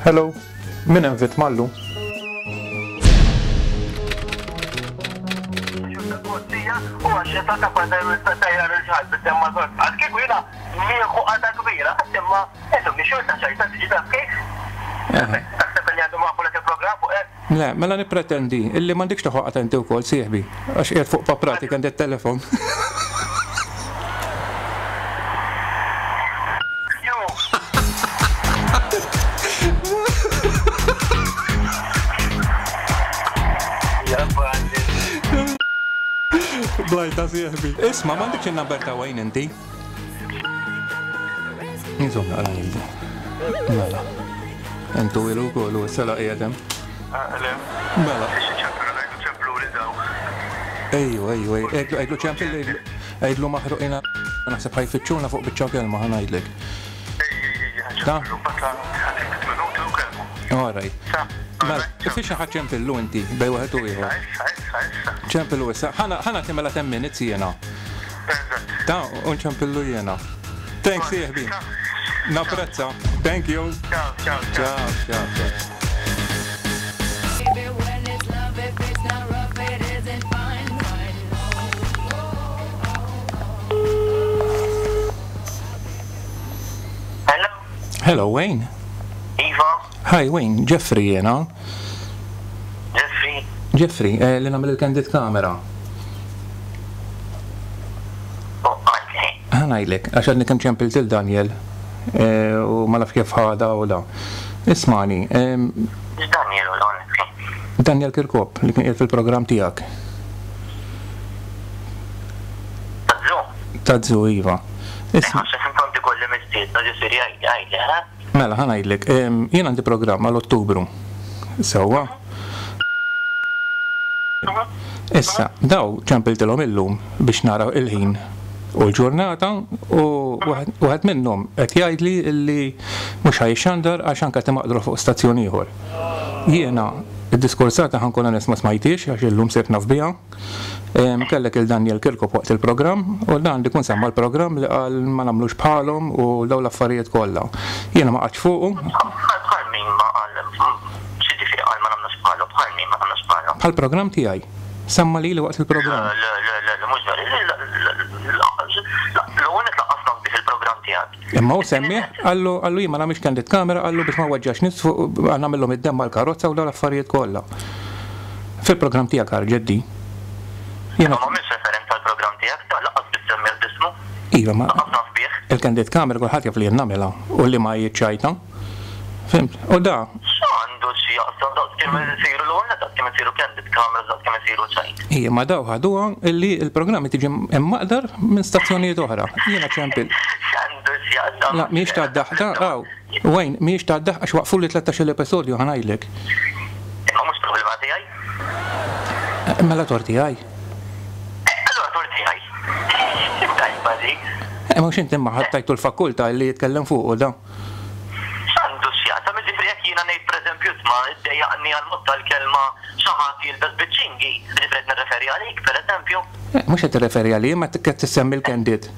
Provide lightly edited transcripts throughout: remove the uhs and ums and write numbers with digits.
Hello, min hemm vittma llum? Le, mela nippretendi illi m'għandikx tieħu qatgħa inti wkoll sieħbi, għax qiegħed fuq paprati kemm telefon. Blajta sieħbi. Isma' m'għandikx in-number ta' Wayne inti? Insomma, naqra ngħidu. Mela. Intu ilu wkoll u issa la qiegħed hemm. Mela. Ejju, ejju, ejju, għidlu ċempil, għidlu maħruqina naħseb ħajfittxuna fuq biċċa kelma ħa ngħidlek. Ta? All right. Mela, fiex ħa ċempillu inti bej wieħed u ieħor. Ċempillu issa. Ħa nagħti mela 10 minutes jiena. Ta, u nċempillu jiena. Thanks sieħbi. Napprezza. Thank you. Ciao, ciao, ciao. Ciao, ciao. Hello. Hello, Wayne. Iva. Hi, Wayne. Jeffrey jena. Jeffrey. Jeffrey, eh, li nagħmel il-candid camera. Ħa ngħidlek, għax għadni kemm ċempilt il Daniel eh, u ma naf kif ħada u da. Ismani. Daniel u l Daniel Kirkop li kien qiegħed fil-programm tiegħek. Tazzu? Tazzu, iva. Isma' Inti kolli mistiedna ġifieri għidli, ha? Mela, ħa ngħidlek, jien għandi programm għal Ottubru. Sewwa. Issa, daw ċempiltilhom illum biex nara il-ħin u l-ġurnata u wieħed minnhom qed jgħidli li mhux ħa jixxandar għax anke qed imaqdru fuq stazzjon ieħor. Jiena d-diskursata ħa nkun onest ma smajthiex għax illum sirt naf biha. Kellek il Daniel Kirkop waqt il-programm u dan li kun semma l-programm li qal ma nagħmlux bħalhom u dawn l-affarijiet kollha. Jiena ma qgħadtx fuqu. Bħal min ma qal x'jiġifieri qal ma nagħmlux bħalhom, bħal min ma nagħmlux bħalhom? Bħall-programm tiegħi. Semma lili waqt il-programm. Le, le, le, le, mhux veru. L-ewwel nett lanqas naf bih il-programm tiegħek. Imma hu semmieh, qallu, qallu jien ma nagħmilx candid camera, qallu biex ma nweġġax nies fuq, nagħmilhom id-demm mal-karozza u dawn l-affarijiet kollha. Fil-programm tiegħek ħarġet di. Jiena. Imma m'għamilx referenza għall-programm tiegħek, ta' lanqas biss semmih b'ismu. Iva, ma. Lanqas naf bih. Il-candid camera kulħadd jaf li jien nagħmilha u li ma hi ċajta. Fhimt? U da. X'għandu x'jaqsam daqs kemm isiru l-ewwel nett daqs kemm isiru candid cameras daqs kemm isiru ċajt. Ija, ma daw ħaduha illi l-programmi tiġi maqdar minn stazzjonijiet oħra. Jiena ċempil. X'għandu x'jaqsam? La, mhijiex tad-daħq, da, aw, Wayne, mhijiex tad-daħq għax waqfuli 13-il episodju ħa ngħidlek. Imma mhux problema tiegħi. Mela tort tiegħi. Allura tort tiegħi. Tajba di. Eh, mhux inti imma ħadd tajtu l-fakultà illi jitkellem fuqu da. X'għandu x'jaqsam? Jiġifieri jekk jiena ngħid pereżempju isma' iddejjaqni għall-mod tal-kelma xi ħadd jilbes biċ-ċingi, jiġifieri qed nirreferi għalik pereżempju? Mhux qed tirreferi għalija imma qed tissemmi l-candid.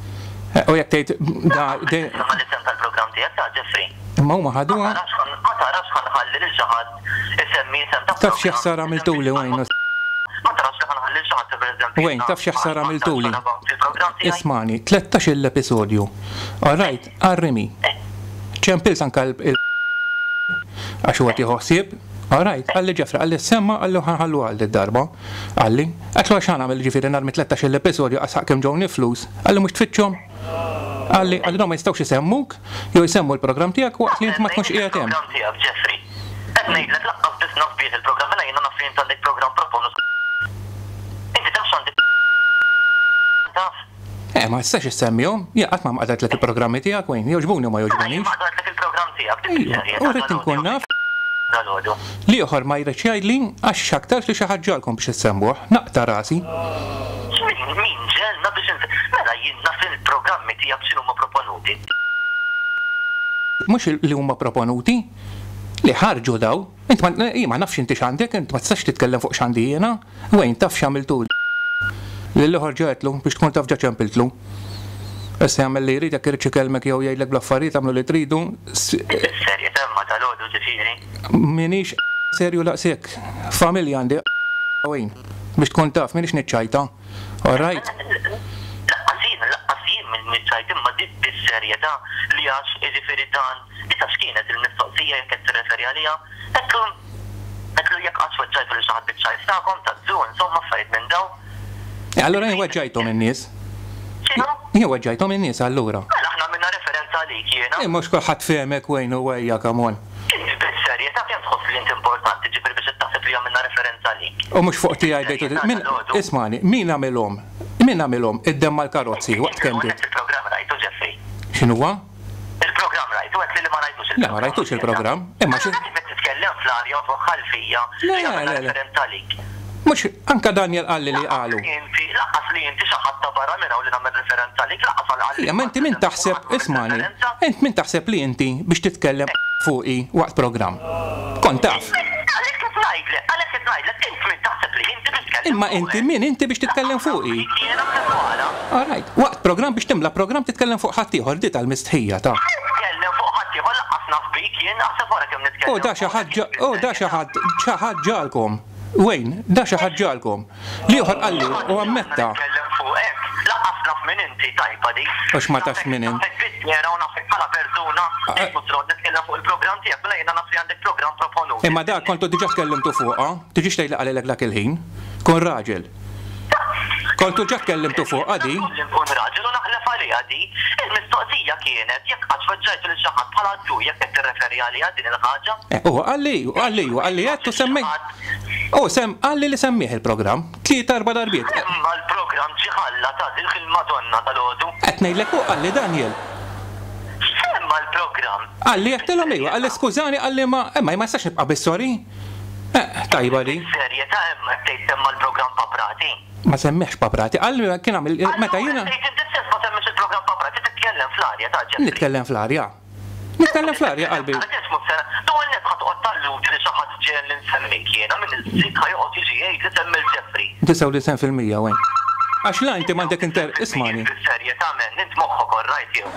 U jekk tgħid da. Semma l-isem tal-programm tiegħek ta' Jeffrey. Imma huma ħaduha. Ma tarax ħa nħalli lil xi ħadd isemmi isem ta' Taf xi ħsara għamiltuli Wayne. Ma tarax li ħa nħalli lil xi ħadd pereżempju. Wayne, taf xi ħsara għamiltuli. Ismagħni, 13-il episodju. All right, Għar-rimi. Ċempilt anka il għax huwa tieħu ħsieb. All right, qalli Jeffrey, qalli semma, qalli ħa nħalluha għal did-darba. Qalli, għedtlu għax ħa nagħmel jiġifieri narmi 13-il episodju qas ħaqq kemm ġewni flus. Qalli mhux tfittxhom? Qalli, qalli dawn ma jistgħux isemmuk jew jsemmu l-programm tiegħek waqt li int ma tkunx qiegħed hemm. Il-programm tiegħek, Jeffrey. Qed ngħidlek lanqas biss naf bih il-programm, mela jiena naf li int għandek programm proponut. Inti taf x'għandi taf? Eh, ma tistax issemmihom. Jien qatt ma mqadajtlek il-programmi tiegħek, Wayne. Jogħġbuni u ma jogħġbunix. Jien maqdajtlek il-programm tiegħek, dik is-serjetà. U rrid inkun naf. Dalgħodu. L-ieħor ma jridx jgħidli għax x'aktarx li xi ħadd ġagħalkom biex issemmuh. Naqta' rasi. Min, min ġegħelna biex ins. Mela jien naf il-programmi tiegħek x'inhuma proponuti. Mhux li huma proponuti. Li ħarġu daw. Int ma, jien ma nafx inti x'għandek, int ma tistax titkellem fuq x'għandi jiena. Wayne, taf x'għamiltuli? Lill-ieħor ġa għedtlu, biex tkun taf ġa ċempiltlu. Issa jagħmel li jrid, jekk iridx ikellmek jew jgħidlek bl-affarijiet, agħmlu li tridu. Bis-serjetà imma. Imma dalgħodu ġifieri. M'iniex serju daqshekk. Familja għandi Wayne. Biex tkun taf, m'iniex niċċajta. All right? Laqqas jien, laqqas jien niċċajt imma dik bis-serjetà li għax jiġifieri dan, issa x'kienet il-mistoqsija jekk qed tirreferi għaliha? Għedtlu, għedtlu jekk qattx weġġajtu lil xi ħadd biċ-ċajt tagħkom, taz-zoo, insomma affarijiet minn dawn. Eh, allura jien weġġajthom in-nies. X'inhu? Jien weġġajthom in-nies allura. Mela aħna għamilna referenza għalik jiena. Eh, mhux kulħadd fehmek Wayne u ejja come on. Int bis-serjetà kemm tħoss li int importanti ġifieri biex qed taħseb li għamilna referenza għalik? U mhux fuq tiegħi bdejtu min ismagħni, min għamilhom? Min għamilhom id-demm mal-karozzi waqt kemm bdiet? Il-programm rajtu Jeffrey? X'inhuwa? Il-programm rajtu għedt li li ma rajtux il-programm. Le ma rajtux il-programm. Imma xi. Kif qed titkellem fl-arja u twaħħal fija li għamilna referenza għalik? Mhux anke Daniel qalli li qalu. Inti, lanqas li inti xi ħadd ta' barra minn hawn li nagħmel referenza għalik, lanqas għal qalbi. Imma inti min taħseb, ismagħni, int min taħseb li inti biex titkellem fuqi waqt programm? Kont taf. Għalhekk qed ngħidlek, għalhekk qed ngħidlek, int min taħseb li inti biex tkellem fuqi? Imma inti min inti biex titkellem fuqi? Jiena b'kemm wara. All right, waqt programm biex timla programm titkellem fuq ħaddieħor, di tal-mistħija ta'. Nitkellem fuq ħaddieħor lanqas naf bik jien, aħseb wara kemm nitkellem. U da xi ħadd, u da xi ħadd, xi ħadd ġagħalkom. Wayne, da xi ħadd ġagħalkom. L-ieħor qalli u ammetta. Nitkellem fuqek, lanqas naf min inti, tajba dik. Għax ma tafx min int. Nafek bid-dehra u nafek bħala persuna, int mhux se noqgħod nitkellem fuq il-programm tiegħek, mela jiena naf li għandek programm proponut. Imma dak kontu diġà tkellimtu fuqha, tiġix tgħid li qalilek dak il-ħin. Kun raġel. Kontu ġa tkellimtu fuqha di. Li nkun raġel u naħlef għaliha di. Il-mistoqsija kienet jekk qattx weġġajtu lil xi ħadd bħala attur jekk qed tirreferi għaliha din il-ħaġa. Eh, huwa qalli, qalli, huwa qalli għedt u semmejt. Hu sem qalli li semmieh il-programm. Tlieta erba' darbiet. Imma l-programm ġie ħalla ta' dik il-Madonna dalgħodu. Qed ngħidlek hu qalli Daniel. X'semma l-programm? Qalli għedtilhom iva, qalli skużani qalli ma, imma jien ma nistax nibqa' bis-sorry. Eh, tajba di. Bis-serjetà imma qed tgħid semma l-programm Paprati? Ma semmieħx Paprati, qal li kien għamel meta jiena. Allura tgħid inti stess ma semmiex il-programm Paprati, titkellem fl-arja ta' Jeffrey. Nitkellem fl-arja. Nitkellem fl-arja qalbi. L-ewwel nett ħa toqgħod talludi li xi ħadd ġegħel li nsemmik jiena, min iż-żikk ħa joqgħod jiġi jgħid li semmi 'l Jeffrey. 99% Wayne. Għax la inti m'għandek inter ismagħni. Bis-serjetà man, int moħħok orrajt jew?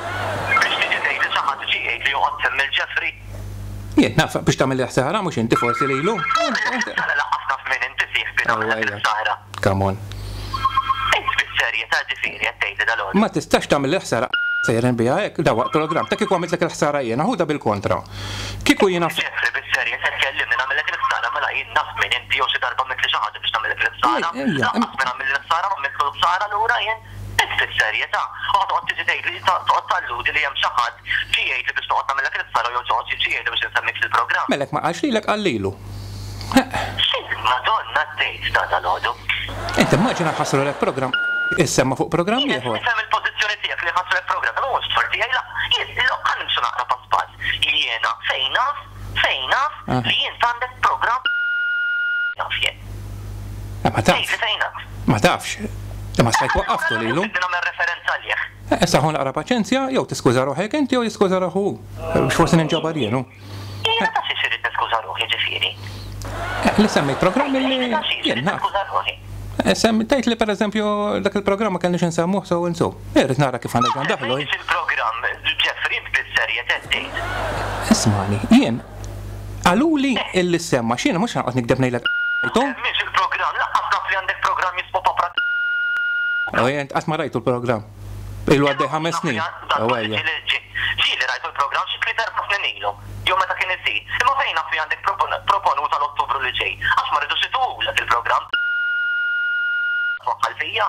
Biex tiġi tgħid li xi ħadd ġie jgħid li joqgħod semmi 'l Jeffrey. Jien naf biex tagħmel il-ħsara mhux inti forsi lilu. Mela lanqas naf min inti sieħbi nagħmellek il-ħsara. Come on. Int bis-serjetà ġifieri qed tgħidli dalgħodu? Ma tistax tagħmel il-ħsara sejrin biha hekk da waqt programm ta' kieku għamiltlek il-ħsara jiena ħudha bil-kontra. Kieku jiena. Jeffrey bis-serjetà tkellimni nagħmellek il-ħsara mela jien naf min inti jew xi darba għamiltli xi ħaġa biex nagħmellek il-ħsara. Lanqas min għamilli l-ħsara ma għamiltlu l-ħsara lura jien. Int bis-serjetà? U ħa toqgħod tiġi tgħidli, toqgħod talludi li hemm xi ħadd ġie jgħidli biex noqgħod nagħmillek il-ħsara jew xi ġie jgħidli biex insemmik fil-programm? Mela jekk ma qalx lilek qal lilu. X'il-Madonna tgħid ta' dalgħodu? Int immaġina ħassrulek programm issemma fuq programm ieħor. Nifhem il-pożizzjoni tiegħek li ħassrulek programm, imma mhux tort tiegħi la. Jien, ħa nimxu naqra pass pass. Jiena fejn naf, fejn naf li int għandek programm naf jien. Eh, ma tafx. Tgħidli fejn naf. Ma tafx. Imma stajt waqqaftu lilu. Tridni nagħmel referenza għalih. Eh, issa ħu naqra paċenzja, jew tiskuża ruħek inti jew jiskuża ruħu hu. Biex forsi ninġabar jien hu. Jiena ta' xiex irrid niskuża ruħi ġifieri. Eh, li semmejt programm li jien naf. Eh, sem tgħid li pereżempju dak il-programm ma kellniex insemmuh so and so. Irrid nara kif għandek daħlu. Il-programm Jeffrey int bis-serjetà tgħid. Ismani, jien qaluli illi semma x'jiena mhux ħa noqgħod nikdeb ngħidlek rajtu. Semmiex il-programm, lanqas naf li għandek programm jismu Papra. U int qatt ma rajtu l-programm. Ilu għaddej ħames snin. U ejja. Ġieli rajtu l-programm xi tliet erba' snin ilu, jew meta kien isir. Imma fejn naf li għandek proponut għal Ottubru li ġej? Għax ma ridux ituhulek il-programm. Twaħħal fija.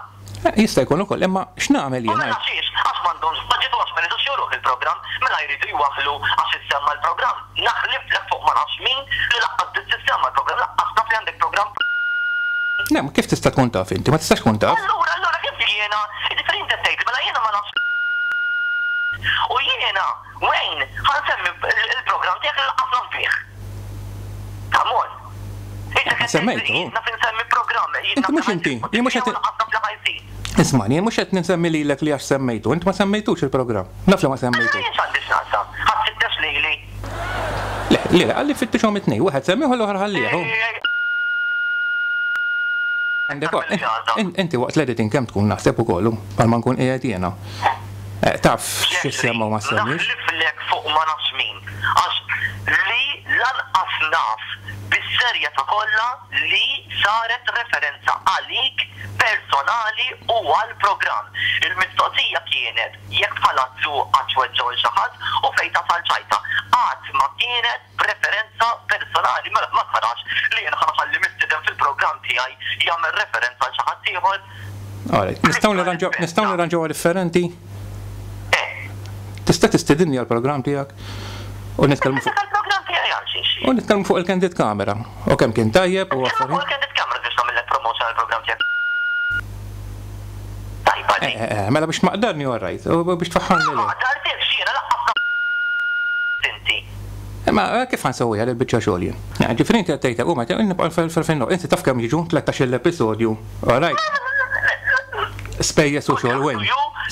Jista' jkun ukoll, imma x'nagħmel jien? U mela xiex? Għax m'għandhomx budget u għax ma jridux juruh il-programm, mela jridu jwaħħlu għax issemma l-programm. Naħliflek fuq ma nafx min li lanqas biss issemma l-programm, lanqas naf li għandek programm. Le, ma kif tista' tkun taf inti? Ma tistax tkun taf. Allura, allura kif jiena, jiġifieri inti qed tgħidli mela jiena ma nafx u jiena, Wayne, ħa nsemmi l-programm tiegħek li lanqas naf bih. Come on. Semmejtu. Naf insemmi programm. Inti mhux inti, jien mhux qed. Ismani, jien mhux qed ninsemmi lilek li għax semmejtu, inti ma semmejtux il-programm. Naf li ma semmejtux. Jien x'għandi x'naqsam? Ħa tfittex lili. Le, le, qalli fittixhom it-tnejn, wieħed semmih u l-oħra ħallih. Inti waqt l-editing kemm tkun naħseb ukoll, bħalma nkun qiegħed jiena. Eh, taf x'issemma u ma semmix. Naħliflek fuq ma nafx min. Għax li. naf bis-serjetà kollha li saret referenza għalik personali u għall-programm. Il-mistoqsija kienet jekk bħala attur qattx weġġgħu 'l xi ħadd u fejn tasal ċajta. Qatt ma kienet b'referenza personali. Mela ma tarax li jien ħa nħalli mistieden fil-programm tiegħi jagħmel referenza għal xi ħadd ieħor? Alright, nistgħu nirranġaw nistgħu nirranġawha differenti? Eh. Tista' tistidinni għall-programm tiegħek u nitkellmu fuq. Għall-programm tiegħi għal xiex? U nitkellmu fuq il-candid camera u kemm kien tajjeb u affarijiet. Fuq il-candid camera biex nagħmillek promotion għall-programm tiegħek. Tajba di. Eh, eh, mela biex tmaqdarni all right, u biex tfaħħarni le. Ma maqdartekx jiena lanqas naf inti. Imma kif ħa nsewwiha dil-biċċa xogħol jien? Ġifieri inti qed tgħid hekk u meta nibqa' fil-fin inti taf kemm jiġu 13-il episodju, all right? Spejjeż u xogħol wejn.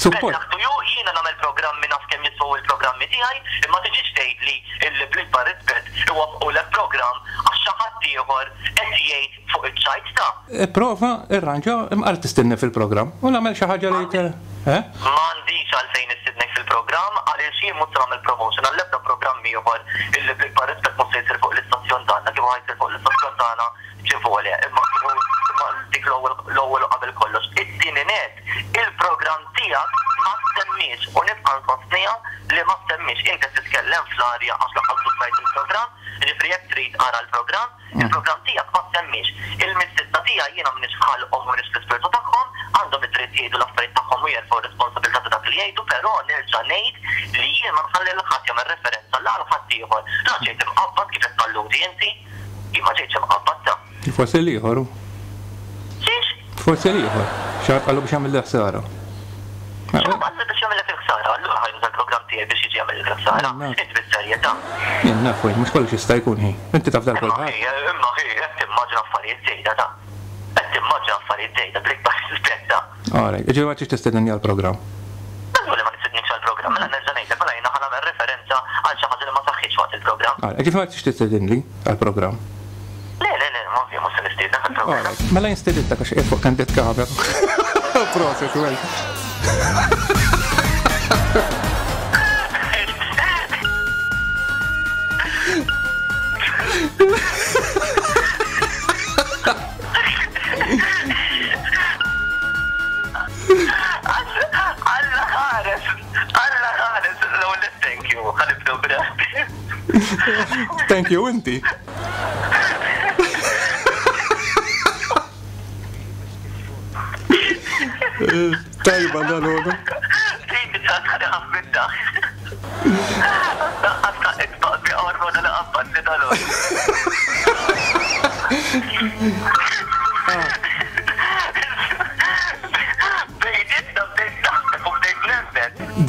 Support. Good luck to you, jiena nagħmel programmi naf kemm jiswew il-programmi tiegħi, imma tiġix tgħidli illi bl-ikbar rispett iwaffqulek programm għax xi ħadd ieħor qed jgħid fuq iċ-ċajt ta'. Ipprova irranġa imqar tistidni fil-programm u nagħmel xi ħaġa li eh? M'għandix għalfejn nistidnek fil-programm għaliex jien mhux se nagħmel promotion għall-ebda programm ieħor illi bl-ikbar rispett mhux se jsir fuq l-istazzjon tagħna kieku ħa jsir fuq l-istazzjon tagħna ġivole imma kieku imma dik l-ewwel l-ewwel u qabel kollox. It-tieni nett il-programm tiegħek ma ssemmiex u nibqa' nsostniha li ma ssemmiex. Int qed titkellem fl-arja għax lanqas biss rajt il-programm, jiġifieri jekk trid ara l-programm. Il-programm tiegħek ma ssemmiex. Il-mistiedna tiegħi jiena m'iniex f'ħalqhom u m'iniex fl-ispirtu tagħhom, għandhom id-dritt jgħidu l-affarijiet tagħhom u jerfgħu r-responsabilità ta' dak li jgħidu, però nerġa' ngħid li jien ma nħalli lil ħadd jagħmel referenza la għal ħaddieħor, la ġejt imqabbad kif qed talludi inti. Jien ma ġejtx imqabbad ta. Forsi l-ieħor hu. Xiex? Forsi l-ieħor. Xi ħadd qallu biex jagħmilli ħsara. Xi ħadd qallu biex jagħmillek il-ħsara, allura ħa juża l-programm tiegħi biex jiġi jagħmillek il-ħsara. Int bis-serjetà? Jien naf wejn, mhux kollox jista' jkun ħi. Inti taf dal kulħadd. Imma ħi, qed timmaġina affarijiet żejda ta. Qed timmaġina affarijiet żejda bl-ikbar rispett ta. Alright, jiġifieri ma tridx tistedinni għall-programm. Żgur li ma nistednikx għall-programm, mela nerġa' ngħidlek, mela jiena ħa nagħmel referenza għal xi ħaġa li ma saħħitx waqt il-programm. Alright, jiġifieri ma tridx tistedinli għall-programm. Le, le, le, ovvja mhux se nistiednek għall-programm. Alright, mela jien stedintek għax qiegħed fuq candid camera. Proset, well. Alla ħares, Alla ħares, l-ewwel thank you, ħa nibdew Thank you inti. Tajba dal-għodu.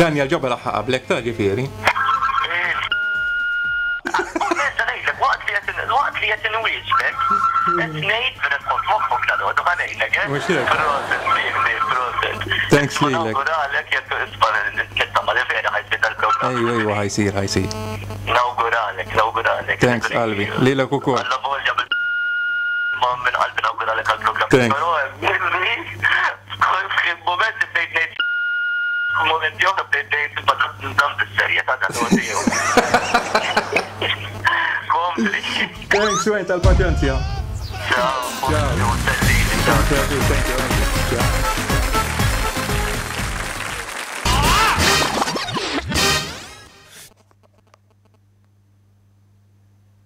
Daniel ġobel aħħa qablek ta' ġifieri. Waqt li qed inwieġbek, qed ngħid b'respons moħħok dal-għodu ħa ngħidlek, eh? Mhux hekk. Proset, Mimi, proset. Thanks lilek. Nawguralek jekk isma' nittama li vera ħa jsir dal-programm. Ejwa, ejwa ħa jsir, ħa jsir. Nawguralek, nawguralek. Thanks qalbi. Lilek ukoll. Alla volja ma minn qalbi nawguralek għall-programm. Thanks. Però Mimi, f'xi mument bdejt ngħid f'mumenti oħra bdejt ngħid imma dan bis-serjetà dan huwa tiegħu. Kompli. Thanks Wayne tal-paċenzja. Ciao. Ciao. Ciao. Thank you, thank you. Ciao.